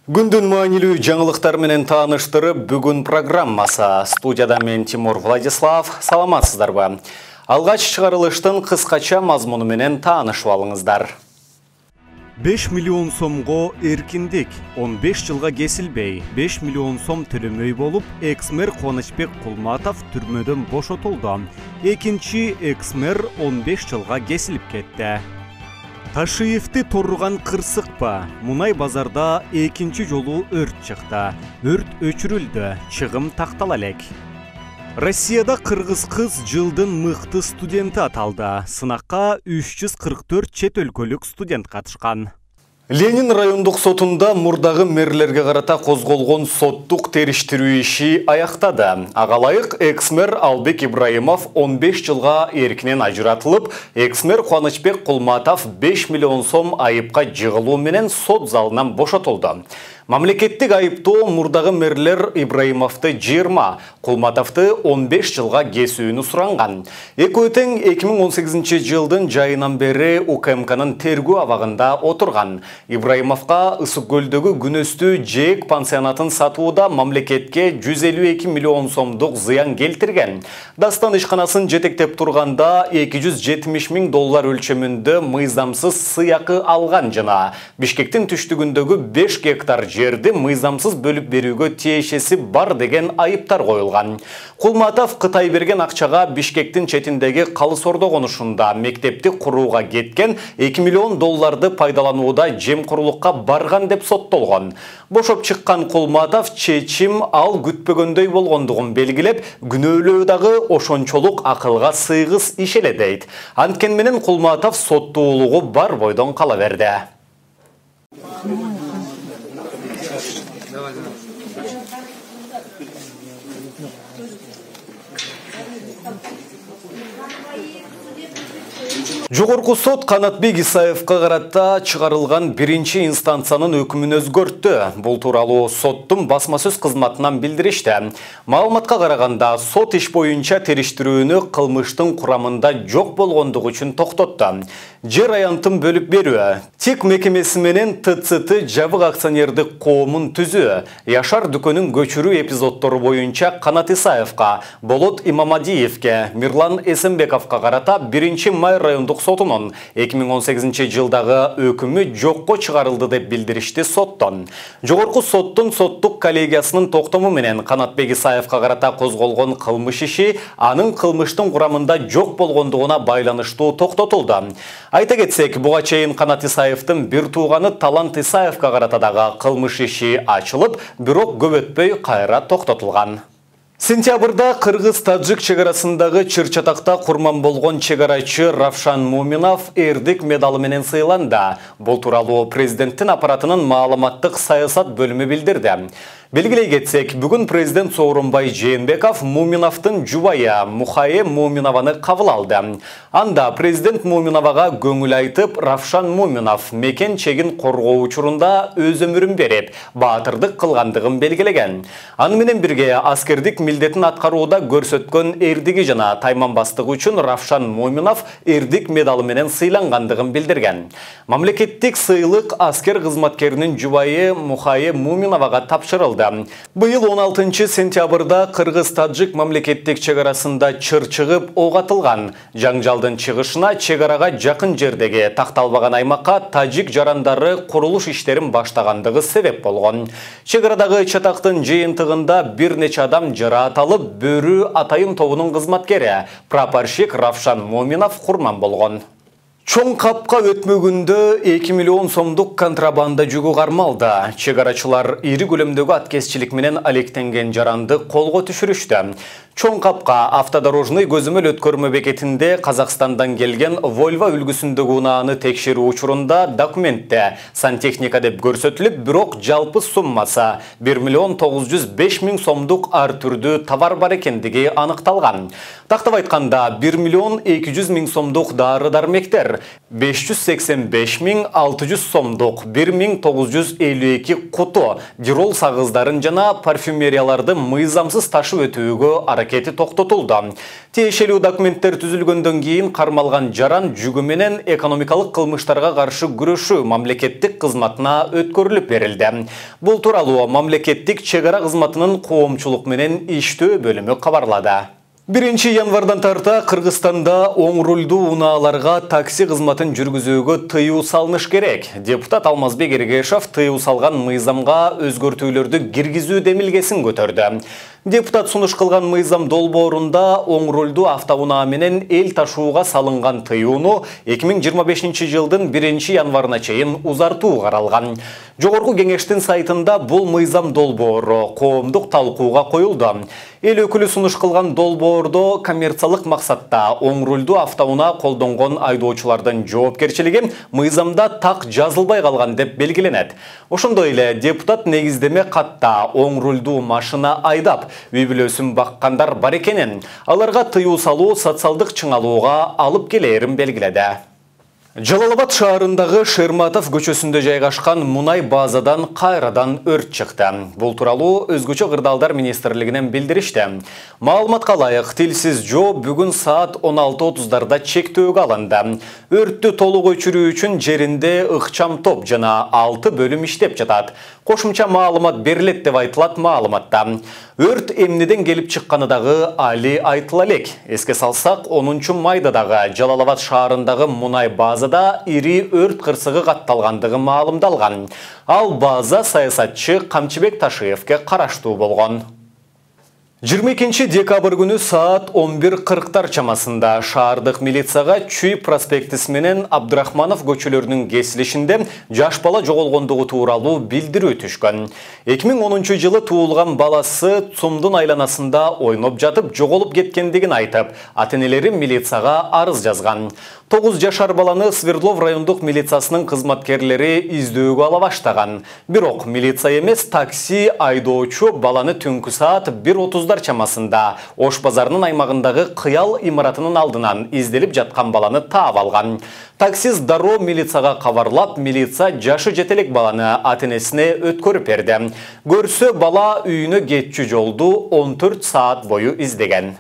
Күндүн маанилүү жаңылыктар менен тааныштырып, бүгүн программасы. Студияда мен Тимур Владислав. Саламатсыздарбы? Алгач чыгарылыштын кыскача мазмуну менен таанышып алыңыздар. 5 миллион сомго эркиндик, 15 жылга кесилбей, 5 миллион сом төлөмөй болуп, экс-мэр Кубанычбек Кулматов түрмөдөн бошотулду. Экинчи экс-мэр 15 жылга кесилип кетти. Ташиевди торруган кырсыкпа. Мунай базарда экинчи жолу өрт чыкты. Өрт өчүрүлдү, чыгым тактала элек. Россияда кыргыз кыз жылдын мыкты студенти аталды. Сынакка 344 чет өлкөлүк студент катышкан. Ленин райондук сотунда мурдагы мэрлерге карата козголгон соттук териштирүү иши аяктады. Ага ылайык экс-мэр Албек Ибраимов 15 жылга эркинен ажыратылып, экс-мэр Кубанычбек Кулматов 5 миллион сом айыпка жыгылуу менен сот залынан бошотулду. Мамлекеттик айыптоо мурдагы мэрлер Ибраимовду 20, Кулматовду 15 жылга кесүүнү суранган. Экөө тең 2018 жылдын жайынан бери УКМКнын тергөө абагында отурган. Ибраимовго Ысык көлдөгү күнөстүү ЖЭК пансионатын сатууда мамлекетке 152 миллион сомдук зыян келтирген. Дастан ишканасын жетектеп турганда 270 миң доллар өлчөмүндө мыйзамсыз сыйакы алган жана Бишкектин түштүгүндөгү 5 гектар жерди мыйзамсыз бөлүп берүүгө тиешеси бар деген айыптар коюлган. Кулматов Кытай берген акчага Бишкектин четиндеги Калыс Ордо конушунда мектепти курууга кеткен 2 миллион долларды пайдаланууда жемкурлукка барган деп соттолгон. Бошоп чыккан Кулматов чечим ал күтпөгөндөй болгондугун белгилеп, күнөөлөө дагы ошончолук акылга сыйгыс иш эле дейт. Анткен менен Кулматов соттуулугу бар бойдон кала берди. Жогорку сот Канатбек Исаевга карата чыгарылган биринчи инстанциянын өкүмүн өзгөрттү. Бул тууралуу соттун басма сөз кызматынан билдиришти. Маалыматка караганда, сот иш боюнча териштирүүнү кылмыштын курамында жок болгондугу үчүн токтотту. Жер аянтын бөлүп берүү, ТИК мекемеси менен ТЦТ жабык акционердик коомун түзүү, Яшар дүкөнүн көчүрүү эпизоддору боюнча Канат Исаевга, Болот Имамадиевге, Мирлан Эсенбековго карата 1-май райондук сотунун 2018 жылдагы өкүмү жокко чыгарылды деп билдиришти соттон. Жогорку соттун соттук коллегиясынын токтому менен Канатбек Исаевга карата козголгон кылмыш иши анын кылмыштын курамында жок болгондугуна байланыштуу токтотулду. Айта кетсек, буга чейин Канат Исаевдин бир тууганы Талант Исаевга карата дагы кылмыш иши ачылып, бирок көп өтпөй кайра токтотулган. Сентябрда кыргыз-тажик чегарасындагы Чыр-Чатакта курман болгон чегарачы Равшан Муминов эрдик медалы менен сыйланды. Бул тууралуу президенттин аппаратынын маалыматтык саясат бөлүмү билдирди. Белгилей кетсек, бүгүн президент Сооронбай Жээнбеков Муминовдун жубайы Мухае Муминованы кабыл алды. Анда президент Муминовага көңүл айтып, Равшан Муминов мекен чегин коргоо учурунда өз өмүрүн берип, баатырдык кылгандыгын белгилеген. Аны менен бирге аскердик милдетин аткарууда көрсөткөн эрдиги жана тайманбастыгы үчүн Равшан Муминов эрдик медалы менен сыйлангандыгын билдирген. Мамлекеттик сыйлык аскер кызматкеринин жубайы Мухае Муминовага тапшырылды. Быйыл 16 сентябрда кыргыз-тажик мамлекеттик чегарасында чыр чыгып ок атылган. Жаңжалдын чыгышына чегарага жакын жердеги такталбаган аймакка тажик жарандары курулуш иштерин баштагандыгы себеп болгон. Чегарадагы чатактын жыйынтыгында бир нече адам жараат алып, Бөрү атайын тобунун кызматкери прапорщик Равшан Муминов курман болгон. Чоң капка өтмөгүндө 2 миллион сомдук контрабанда жүгү кармалды. Чегарачылар ири көлөмдөгү аткезчилик менен алектенген жаранды колго түшүрүштү. Чоң капка автодорожный көзөмөл өткөрмө бекетинде Казакстандан келген Volvo үлгүсүндөгү унааны текшерүү учурунда документте сантехника деп көрсөтүлүп, бирок жалпы суммасы 1 миллион 905 миң сомдук ар түрдүү товар бар экендиги аныкталган. Тактап айтканда 1 миллион 200 миң сомдук дары-дармектер, 585.600 сомдук 1952 куту дирол сагыздарын жана парфюмерияларды мыйзамсыз ташып өтүүгө аракети токтотулду. Тиешелүү документтер түзүлгөндөн кийин кармалган жаран жүгү менен экономикалык кылмыштарга каршы күрөшүү мамлекеттик кызматына өткөрүлүп берилди. Бул тууралуу мамлекеттик чек ара кызматынын коомчулук менен иштөө бөлүмү кабарлады. 1 январдан тарта Кыргызстанда оң рулдуу унааларга такси кызматын жүргүзүүгө тыюу салыныш керек. Депутат Алмазбек Эргешов тыюу салган мыйзамга өзгөртүүлөрдү киргизүү демилгесин көтөрдү. Депутат сунуш кылган мыйзам долбоорунда оң рулдуу автоунаа менен эл ташууга салынган тыюуну 2025 жылдын 1 январына чейин узартуу каралган. Жогорку кеңештин сайтында бул мыйзам долбоору коомдук талкууга коюлду. Эл өкүлү сунуш кылган долбоордо коммерциялык максатта оң рулдуу автоунаа колдонгон айдоочулардын жоопкерчилиги мыйзамда так жазылбай калган деп белгиленет. Ошондой эле депутат негиздеме катта оң рулдуу машина айдап үй бүлөсүн баккандар бар экенин, аларга тыюу салуу социалдык чыңалууга алып келээрин белгиледи. Жалал-Абад шаарындагы Шерматов көчөсүндө жайгашкан мунай базадан кайрадан өрт чыкты. Бул тууралуу Өзгөчө кырдаалдар министрлигинен билдиришти. Маалыматка ылайык, Тилсиз жоо бүгүн саат 16:30 чектөөгө алынды. Өрттү толук өчүрүү үчүн жеринде ыкчам топ жана 6 бөлүм иштеп жатат. Кошумча маалымат берилет деп айтылат маалыматта. Өрт эмнеден келип чыкканы дагы али айтыла элек. Эске салсак, 10 майда дагы Жалал-Абад шаарындагы мунай базада ири өрт кырсыгы катталгандыгы маалымдалган. Ал база саясатчы Камчыбек Ташиевке караштуу болгон. 22 декабрь күнү саат 11:40 чамасында шаардык милицияга Чүй проспектиси менен Абдрахманов көчөлөрүнүн кесилишинде жаш бала жоголгондугу тууралуу билдирүү түшкөн. 2010 жылы туулган баласы Цумдун айланасында ойноп жатып жоголуп кеткендигин айтып, ата-энелери милицияга арыз жазган. 9 жашар баланы Свердлов райондук милициясынын кызматкерлери издөөгө ала баштаган. Бирок милиция эмес, такси айдоочу баланы түнкү саат 1:30 чамасында Ош базарынын аймагындагы Кыял имаратынын алдынан изделип жаткан баланы таап алган. Таксист дароо милицияга кабарлап, милиция жашы жетелек баланы ата-энесине өткөрүп берди. Көрсө, бала үйүнө кетчү жолду 14 саат бою издеген.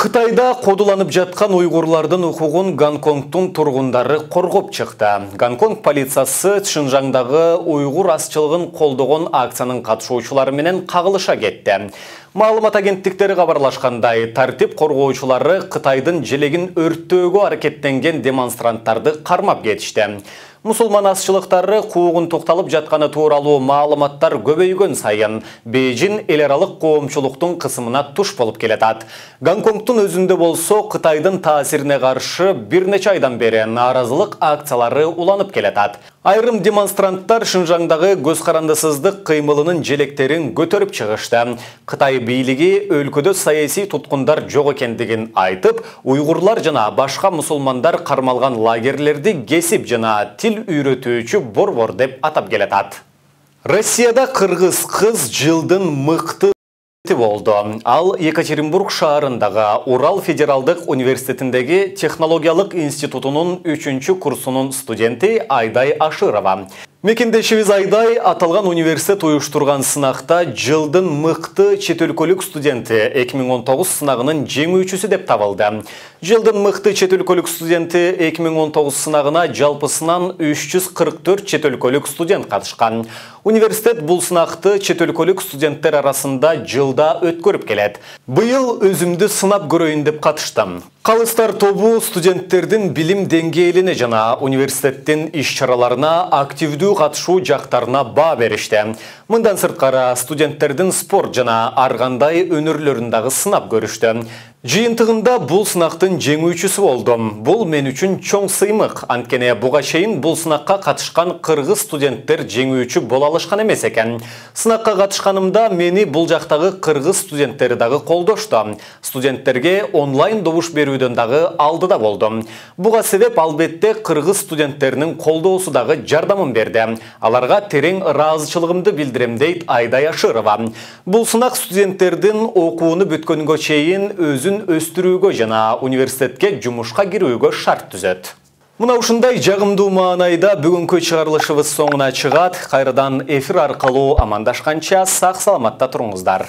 Кытайда кодуланып жаткан уйгурлардын укугун Гонконгдун тургундары коргоп чыкты. Гонконг полициясы Шинжаңдагы уйгур азчылыгын колдогон акциянын катышуучулары менен кагылыша кетти. Маалымат агенттиктери кабарлашкандай, тартип коргоочулары Кытайдын желегин өрттөөгө аракеттенген демонстранттарды кармап кетишти. Мусулман азчылыктары куугун токтолуп жатканы тууралуу маалыматтар көбөйгөн сайын Бейжин эл аралык коомчулуктун кысымына туш болуп келатат. Гонконгдун өзүндө болсо Кытайдын таасирине каршы бир нече айдан бери нааразылык акциялары уланып келатат. Айрым демонстранттар Шинжаңдагы көз карандысыздык кыймылынын желектерин көтөрүп чыгышты. Кытай бийлиги өлкөдө саясий туткундар жок экендигин айтып, уйгурлар жана башка мусулмандар кармалган лагерлерди кесип жана тил үйрөтүүчү борбор деп атап келатат. Россияда кыргыз кыз жылдын мыкты болду. Ал Екатеринбург шаарындагы Урал федералдык университетиндеги технологиялык институтунун 3 курсунун студенти Айдай Ашырова. Мекендешибиз Айдай аталган университет уюштурган сынакта жылдын мыкты чет өлкөлүк студенти 2019 сынагынын жеңүүчүсү деп табылды. Жылдын мыкты чет өлкөлүк студенти 2019 сынагына жалпысынан 344 чет өлкөлүк студент катышкан. Университет бул сынакты чет өлкөлүк студенттер арасында жылда өткөрүп келет. Быйыл өзүмдү сынап көрөйүн деп катыштым. Калыстар тобу студенттердин билим деңгээлине жана университеттин иш-чараларына активдүү катышуу жактарына баа беришти. Мындан сырткары студенттердин спорт жана ар кандай өнөрлөрүн дагы сынап көрүштү. Жыйынтыгында бул сынактын жеңүүчүсү болдум. Бул мен үчүн чоң сыймык. Анткени буга чейин бул сынакка катышкан кыргыз студенттер жеңүүчү боло алышкан эмес экен. Сынакка катышканымда мени бул жактагы кыргыз студенттери дагы колдошту. Студенттерге онлайн добуш берүүдөн дагы алдыда болдум. Буга себеп албетте кыргыз студенттеринин колдоосу дагы жардамын берди. Аларга терең ыраазычылыгымды билдирем дейт Айдай Ашырова. Бул сынак студенттердин окууну бүткөнгө чейин өзүн өстүрүүгө жана университетке жумушка кирүүгө шарт түзөт. Мына ушундай жагымдуу маанайда бүгүнкү чыгарылышыбыз соңуна чыгат. Кайрадан эфир аркылуу амандашканча сак саламатта туруңуздар.